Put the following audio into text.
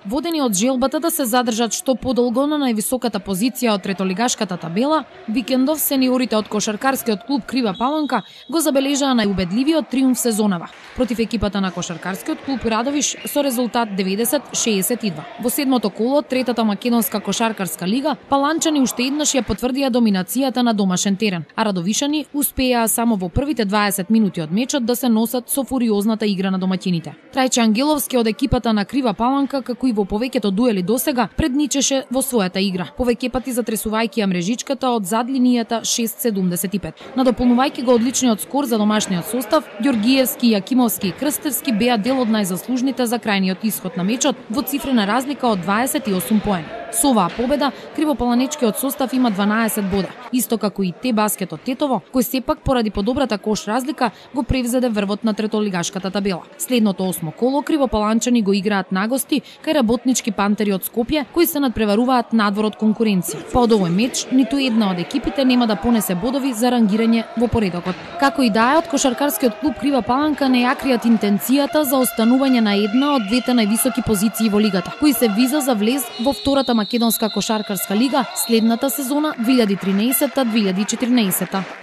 Водени од желбата да се задржат што подолго на највисоката позиција од третолигашката табела, викендов сениорите од кошаркарскиот клуб Крива Паланка го забележаа најубедливиот триумф сезонава против екипата на кошаркарскиот клуб Радовиш со резултат 90-62. Во седмото коло од третата македонска кошаркарска лига, паланчани уште еднаш ја потврдија доминацијата на домашен терен, а радовишани успеаа само во првите 20 минути од мечот да се носат со фуриозната игра на домаќините. Трајче Ангеловски од екипата на Крива Паланка, како и во повеќето дуели досега, предничеше во својата игра, повеќе пати затресувајќи ја мрежичката од зад линијата 6:75. Надополнувајќи го одличниот скор за домашниот состав, Ѓоргиевски, Јакимовски и Крстевски беа дел од најзаслужните за крајниот исход на мечот во цифрена разлика од 28 поени. Со оваа победа, кривопаланечкиот состав има 12 бода, исто како и Те Баскетот Тетово, кој сепак поради подобрата кош разлика го превзеде врвот на третолигашката табела. Следното 8 коло кривопаланчани го играат нагости кај работнички Пантери од Скопје, кои се надпреваруваат надвор од конкуренција. Па од овој меч, ниту една од екипите нема да понесе бодови за рангирање во поредокот. Како и да е, од кошаркарскиот клуб Крива Паланка не ја кријат интенцијата за останување на една од двете највисоки позиции во лигата, кои се виза за влез во втората македонска кошаркарска лига следната сезона 2013-2014.